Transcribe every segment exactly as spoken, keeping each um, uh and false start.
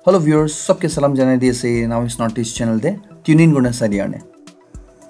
Hello viewers, sabke salam janai di ase Now is Northeast channel te tune in kurna sai dia karne.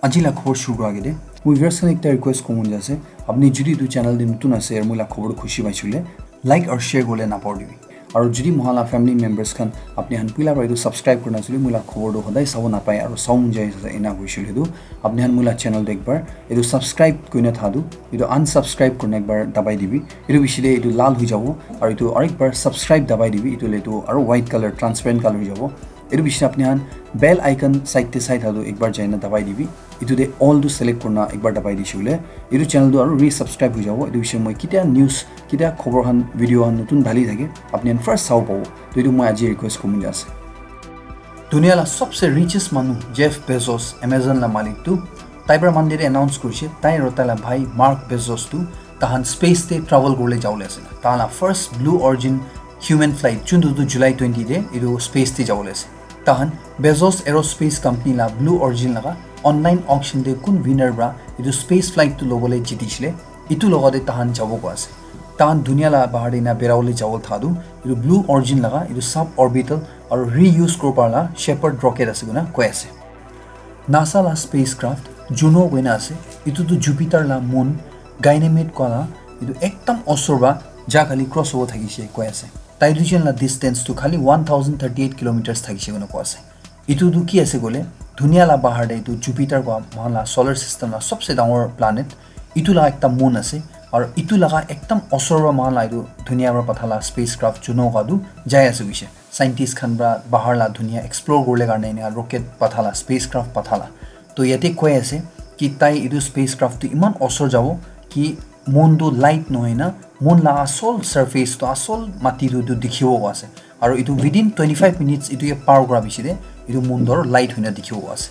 Aji la khobor shuru kura age te moi viewers khan ekta request kobo mon jai ase, apni jodi etu channel te notun ase aru moi la khobor khushi paise koile like aru share kobole napahoribi. Aru jodi moi la family members khan apni khan pila para etu subscribe kurina ase koile moi la khobor tu hodai sabo napai aru sabo mon jai ase ena hoise koile tu apni khan moi la channel te ekbar etu subscribe kurina thadu, etu unsubscribe kurina ekbar dabai dibi. Etu bishi te etu lal hoi jabo aru etu aru ekbar subscribe dabai dibi, etu le etu aru white color transparent color hoi jabo. Etu bishi te apni khan bell icon side te sai thadu ekbar jaina dabai dibi. Etu te all tu select kurina ekbar dabai dise koile etu channel tu aru resubscribe hoi jabo. Etu bishi moi ketia news ketia khobor khan video khan notun dali thake apni khan first sabo pabo. To etu moi aji request kobo mon jai ase. Dunia la sabse richest manu Jeff Bezos, Amazon la malik tu tai para Monday te announce kurise tai aru tai la bhai Mark Bezos tu tahan space te travel kurle jabole ase. Tahan la first Blue Origin human flight jun tu July twenty te etu space te jabole ase. Tahan Bezos Aerospace Company la Blue Origin laga online auction te kun winner para etu space flight tu lobole jiti chile etu logote tahan jabo koi ase. Tahan dunia la bahar te na berawole jabo tha tu etu Blue Origin laga etu suborbital aru reuse koribo para la Shepard rocket ase koina koi ase. NASA la spacecraft Juno koina ase, etu tu Jupiter la moon Ganymede koa la etu ekdam osor para ja khali cross hobo thakise koi ase. Tai duijon la distance tu khali one thousand thirty eight kilometers thakise koina koi ase. Etu tu ki ase koile dunia la bahar te etu Jupiter koa mohan la solar system la sabse dangor planet, etu la ekta moon ase aru etu laga ekdam osor para mohan la etu dunia para patha la spacecraft Juno koa tu jai ase koise. Scientist khan para bahar la dunia explore kurle karne enia rocket patha la spacecraft patha la. To yate koi ase ki tai etu spacecraft tu iman osor jabo ki moon tu light nohoi na moon la asol surface tu asol mati tu etu dikhibo koi ase. Aru etu within twenty five minutes etu ye par kura bishi te etu moon tu aru light hoina dikhibo koi ase.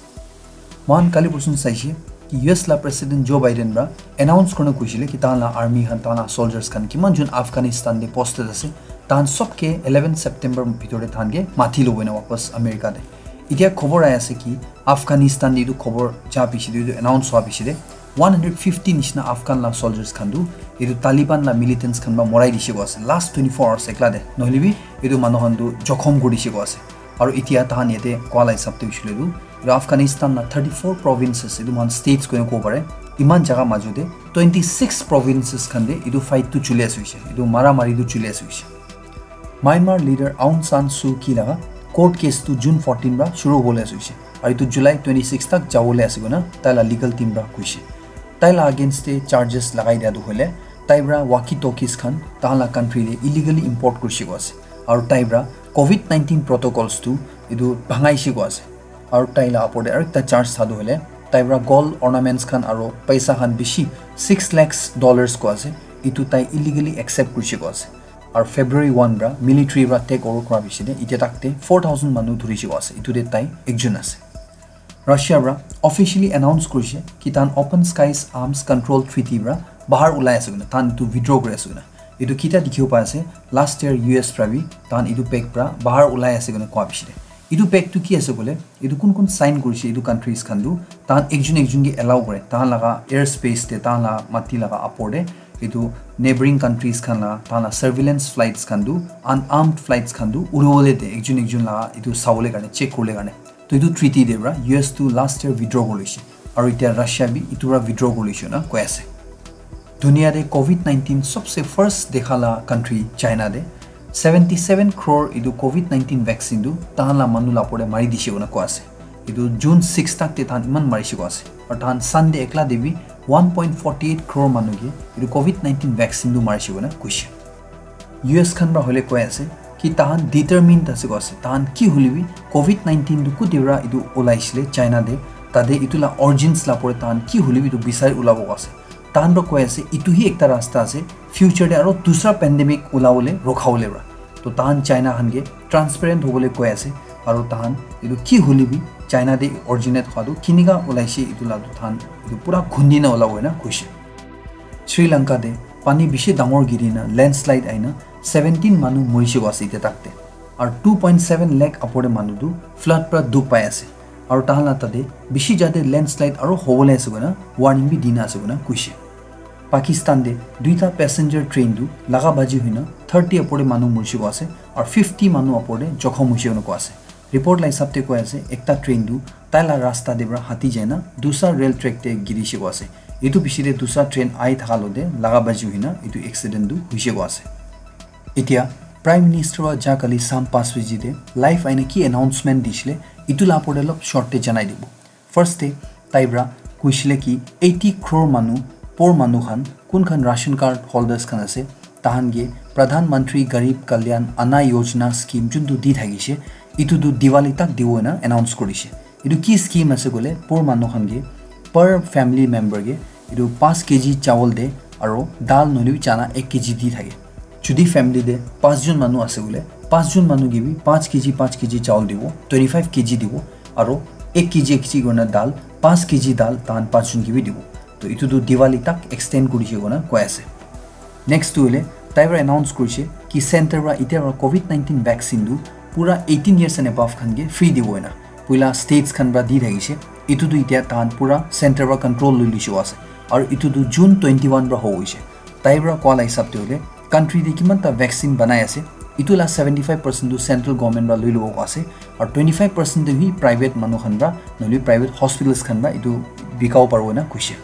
Mohan kali porsun saise ki U S la President Joe Biden para announce kurina kuisile ki tahan la army khan tahan la soldiers khan kiman jun Afghanistan te posted ase tahan sob ke eleven September bhitor te tahan ke mati lobo ena wapas America te. Etia khobor ai ase ki Afghanistan te etu khobor ja bishi te etu announce hua bishi te one hundred fifty nishina Afghan la soldiers khan tu etu Taliban la militants khan para morai dise koi ase last twenty four hours ekla te, nohole bi etu manu khan tu jokhom kuri dise koi ase. Aru etia tahan yate koa la hisab te hoishe koile tu etu Afghanistan la thirty four provinces etu mohan states koina kobo pare, iman jaga majo te twenty six provinces khan te etu fight tu chuli ase hoishe, etu mara mari tu chuli ase hoishe. Myanmar leader Aung San Suu Kyi laga court case tu June fourteen para shuru hobole ase hoishe aru etu July twenty six tak jabole ase koina tai la legal team para koishe. Tai la against te charges lagai dia tu hoile tai para walkie talkies khan tahan la country te illegally import kurishe koi ase aru tai para covid nineteen protocols tu etu bhangaishe koi ase. Aru tai la upor te aru ekta charge thadu hoile tai para gold ornaments khan aru paisa khan bishi six lakhs dollars koi ase, etu tai illegally accept kurishe koi ase. Aru February one para military para take over kura bishi te etia tak te four thousand manu dhurishe koi ase, etu te tai ekjun ase. Russia para officially announce kurishe ki tahan Open Skies Arms Control Treaty para bahar ulai ase koina, tahan etu withdraw kuri ase koina. Etu kita dikhibo pai ase last year U S para bi tahan etu pact para bahar ulai ase koina koa bishi te. Etu pact tu ki ase koile etu kun kun sign kurishe etu countries khan tu tahan ekjun ekjun ke allow kore tahan laga air space te tahan la mati laga upor te etu neighboring countries khan la tahan la surveillance flights khan tu unarmed flights khan tu uribole de ekjun ekjun la etu sabole karne check kuribole karne. To etu treaty de para U S tu last year withdraw kuri loishe aru etia Russia bi etu para withdraw kuri loishe na koi ase. Dunia te covid nineteen sobse first dekha la country China te seventy seven crore etu covid nineteen vaccine tu tahan la manu la upor te mari dishe koina koi ase. Etu June six tak te tahan iman marishe koi ase aru tahan Sunday ekla te bi one point forty eight crore manu ke etu covid nineteen vaccine tu marishe koina koishe. U S khan para hoile koi ase ki tahan determined ase koi ase, tahan ki hoile bi covid nineteen tu kuti para etu ulaishe le China te, tate etu la origins la upor te tahan ki hoile bi etu bisari ulabo koi ase. Tahan para koi ase etu hi ekta rasta ase future te aro dusra pandemic ulabole rukhabole para. To tahan China khan ke transparent hobole koi ase aro tahan etu ki hoile bi China te originate hua tu kinika ulaishe etu la tu tahan etu pura khundi na ulabo ena koishe. Sri Lanka te pani bishi dangor giri na landslide aina seventeen manu morishe koi ase etia tak te. Aru two point seven lakh upor te manu tu flood para dukh pai ase. Aru tahan la tate bishi jate landslide aro hobole ase koina warning bi dina ase koina koishe. Pakistan te duita passenger train tu laga baji hoina thirty apore manu murji ko ase, aru fifty manu apore jokhom hoise koina koa ase. Report la hisab te koi ase, ekta train tu tai la rasta te para hati jaina dusa rail track te giri she koa ase. Etu piche te dusa train ai thaka lo te laga baji hoina etu accident tu hoise koa ase. Etia Prime Minister wa ja kali sam paanch baji te live aina ki announcement dishile, etu la apore lop short te janai dibo. First te tai para koishile ki eighty crore manu, poor manu khan, kun khan ration card holders khan ase, tahan ke Pradhan Mantri Garib Kalyan Anna Yojana scheme juntu di thakishe, itu tu Diwali tak dibo ena announce korishe. Itu ki scheme ase koile, poor manu khan ke per family member ke itu five K G chawal de aro dal nohole bi chana ek K G di thake. Jodi family de paanch jon manu ase koile, paanch jon manu ke bi five K G, five K G chawal dibo, twenty-five K G dibo, aro ek K G, ek K G kurina dal, five K G dal tahan paanch jon ke bi dibo. To itu tu Diwali tak extend kurishe koina koi ase. Next tu hoile, tai para announce kurishe ki center para itya para covid nineteen vaccine tu pura eighteen years and above khan ke free dibo ena. Puila states khan para di thakishe, itu tu itya tahan pura center para control lui lishe ase. Aru itu tu June twenty-one para ho hoishe. Tai para koa la hisab te hoile, country te kiman ta vaccine banai ase, itu la seventy-five percent tu central government para lui lobo koa ase, aru twenty-five percent tu hi private manu khan para, nohole private hospitals khan para itu bikabo paribo ena koishe.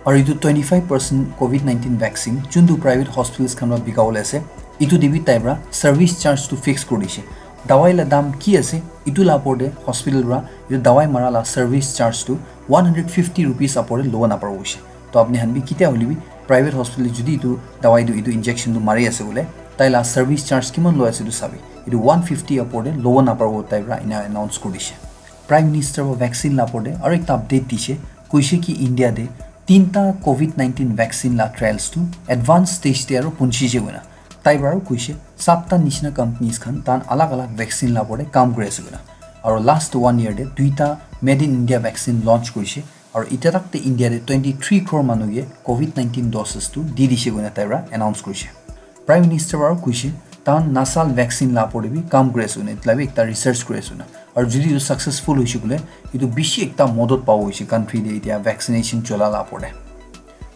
Aru itu twenty-five percent covid nineteen vaccine juntu private hospitals khan para bikabole ase, itu te bi tai para service charge tu fix kuri dishe. Dawai la dam ki ase, itu la opor te hospital para itu dawai mara la service charge tu one hundred fifty rupees opor te lobo naparibo hoishe. To apni khan bi kitia hoile bi private hospital te jodi itu dawai tu, itu injection tu mari ase bole, tai la service charge kiman loi ase itu sabi. Itu one fifty opor te lobo naparibo tai para ena announce kuri dishe. Prime Minister para vaccine la opor te aru ekta update dishe, koishe ki India te tinta covid nineteen vaccine la trials tu advance stage te aru punchije koina. Tai para aru koishe satta nishina companies khan tahan alag alag vaccine la opor te kam kuri ase koina. Aru last one year te duita made in India vaccine launch kurishe. Aru itya tak te India te twenty-three crore manu ke covid nineteen doses tu di dishe koina tai para announce kurishe. Prime Minister para koishe, tahan nasal vaccine la opor te bi kam kuri ase koina, etu la bi ekta research kuri ase koina. Aru jodi etu successful hoishe koile, etu bishi ekta modot pabo hoishe country te itya vaccination chola la opor te.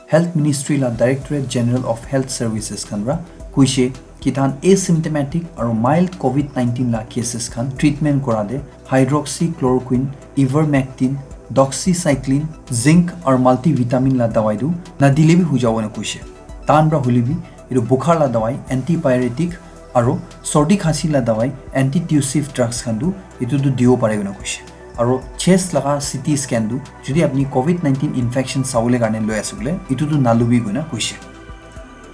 Health Ministry la Directorate General of Health Services khan para koishe ki tahan asymptomatic aru mild covid nineteen la cases khan treatment kora te hydroxychloroquine, ivermectin, doxycycline, zinc aru multivitamin la dawai tu nadile bi hoi jabo ena koishe. Tahan para hoile bi etu bukhar la dawai, antipyretic aru sordi khasi la dawai, antitussive drugs khan tu etu tu dibo pare koina koishe. Aru chest laga C T scan tu jodi apni covid nineteen infection sabole karne loi ase bole, etu tu nalubi koina koishe.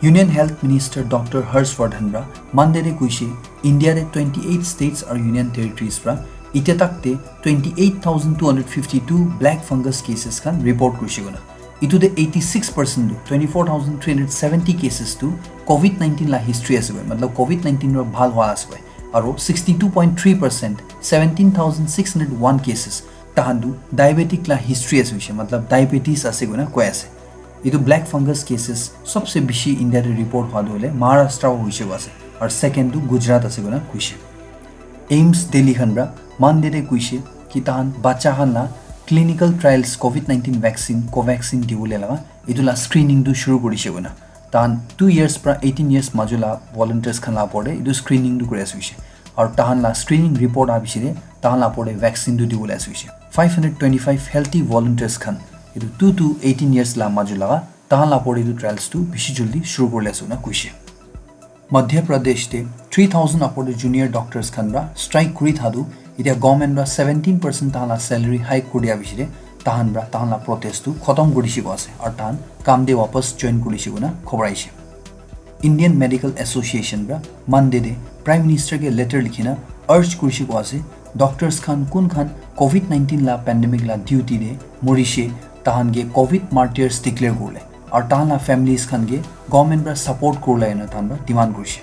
Union Health Minister Doctor Harsh Vardhan para Monday te koishe, India te twenty-eight states aru union territories para itya tak te twenty-eight thousand two hundred fifty-two black fungus cases khan report kurishe koina. Itu te eighty-six percent tu, twenty-four thousand three hundred seventy cases tu covid nineteen la history ase koi, matlab covid nineteen ra bhal hua ase koi. Aru sixty-two point three percent, seventeen thousand six hundred one cases, tahan tu diabetic la history ase koishe, matlab diabetes ase koina koi ase. Itu black fungus cases sobse bishi India te report hua tu hoile Maharashtra wa hoishe koi ase, aru second tu Gujarat ase koina koishe. AIIMS Delhi khan para Monday te koishe ki tahan bacha khan la clinical trials covid nineteen vaccine Covaxin dibole laga etu la screening tu shuru kurishe koina. Tahan two years para eighteen years majo la volunteers khan la opor te etu screening tu kuri ase koishe. Aru tahan la screening report aha piche te tahan la opor te vaccine tu dibole ase koishe. Five hundred twenty-five healthy volunteers khan, etu two to eighteen years la majo laga, tahan la opor te etu trials tu bishi jaldi shuru kuribole ase koina koishe. Madhya Pradesh te three thousand opor te junior doctors khan para strike kuri thaka tu, itya government para seventeen percent tahan la salary hike kuri dia piche te tahan para tahan la protest tu khotom kuri dishe koi ase, aru tahan kam te wapas join kuri dishe koina khobor aishe. Indian Medical Association para Monday te Prime Minister ke letter likhina urge kurishe koi ase, doctors khan kun khan covid nineteen la pandemic la duty te murishe, tahan ke covid martyrs declare kuribole, aru tahan la families khan ke government para support kuribole ena tahan para demand kurishe.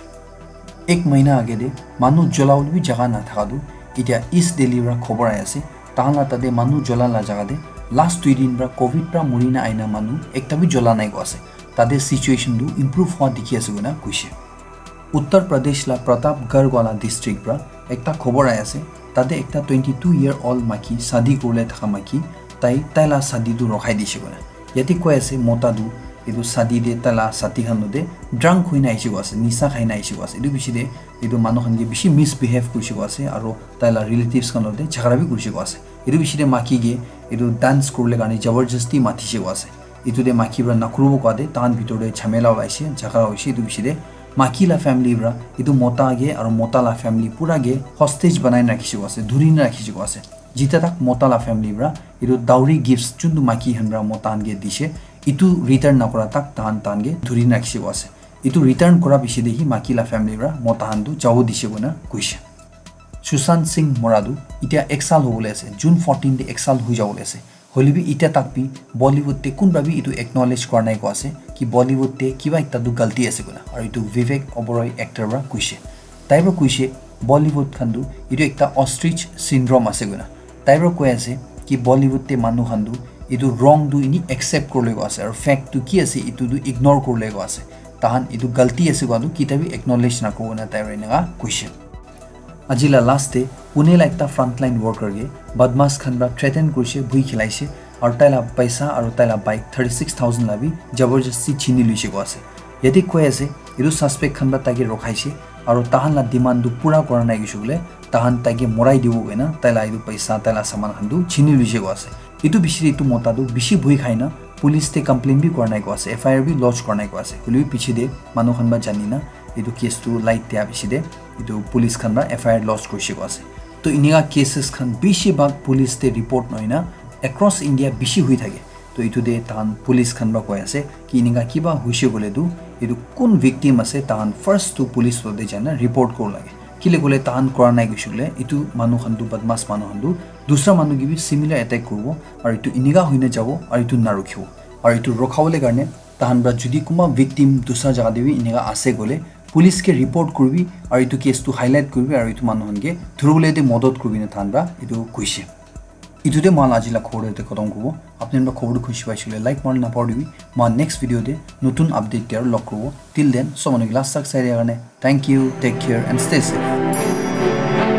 Ek mahina age te manu jola bole bi jaga nathaka tu, itya East Delhi para khobor ahi ase, tahan la tate manu jola la jaga te last dui din para covid para murina aina manu ekta bi jola nai koi ase. Tate situation tu improve hua dikhi ase koina koishe. Uttar Pradesh la Pratapgarh wala district para ekta khobor ahi ase, tate ekta twenty-two year old maiki shadi kuribole thaka maiki, tai, tai la shadi tu rokhai dishe koina. Yate koi ase mota tu etu sadi te taila sati khan lote drunk hoina ahishi ko ase, nisa khaina ahishi ko ase. Etu bishi te etu manu khan ke bishi misbehave kurishi ko ase, aro taila relatives khan lote jhagara bi kurishi ko ase. Etu bishi te maki ke etu dance kuribole karne jabardasti matishe ko ase. Etu te maki para nakuribo koa te tahan bitor te jhamela olaishe, jhagara hoishe. Etu bishi te maki la family para etu mota ke aro mota la family pura ke hostage banai na rakhishe ko ase, dhuri na rakhishe ko ase. Jita tak mota la family para etu dowry gifts juntu maki khan para mota khan ke dishe, etu return nakura tak tahan tahan ke dhuri na rakhishe ko ase. Etu return kura bishi te hi maki la family para mota khan tu jabo dishe koina koishe. Sushant Singh mora tu itia ek saal hobole ase, June fourteen te ek saal hoi jabole ase. Hoile bi itia tak bi Bollywood te kunba bi etu acknowledge kura nai ko ase ki Bollywood te kiba ekta tu galti ase koina. Aru etu Vivek Oberoi actor para koishe. Tai para koishe Bollywood khan tu etu ekta ostrich syndrome ase koina. Tai para koi ase ki Bollywood te manu khan tu etu wrong tu ini accept kuribole ko ase, aru fact tu ki ase etu tu ignore kuribole ko ase. Tahan etu galti ase koa tu kitia bi acknowledge nakuribo na tai para eneka koishe. Aji la last te Pune la ekta frontline worker ke badmash khan para threaten kurishe, bui khilaishe, aru tai la paisa aru tai la bike thirty six thousand la bi jabardasti chini luishe ko ase. Yate koi ase, etu suspect khan para tai ke rokhaishe, aru tahan la demand tu pura kura nai koishe koile, tahan tai ke morai dibo koina, tai la etu paisa, tai la saman khan tu chini luishe ko ase. Etu bishi te etu mota tu bishi bui khai na, police te complain bi kura nai ko ase, F I R bi lodge kura nai ko ase. Hoile bi piche te manu khan para jani na, etu case tu light dia bishi te, etu police khan para F I R lodge kurishe ko ase. To eneka cases khan bishi bhag police te report nohoi na, across India bishi hui thake. To etu te tahan police khan para koi ase ki eneka kiba hoishe koile tu, etu kun victim ase, tahan first tu police lote jai na report kura lage. Kile koile tahan kura nai koishe koile, etu manu khan tu badmash manu khan tu dusra manu ke bi similar attack kuribo, aru etu eneka hoina jabo, aru etu narukhibo. Aru etu rukhabole karne tahan para jodi kunba victim dusra jaga te bi eneka ase koile, police ke report kuribi, aru etu case tu highlight kuribi, aru etu manu khan ke dhuribole te modot kuribi na tahan para etu koishe. Etu te moi aji la khobor te khatam kuribo. Apni khan para khobor tu khushi paishe koile like mari na napahoribi. Moi next video te notun update te aru log kuribo. Till then, sob manu ke last tak sai dia karne thank you, take care and stay safe.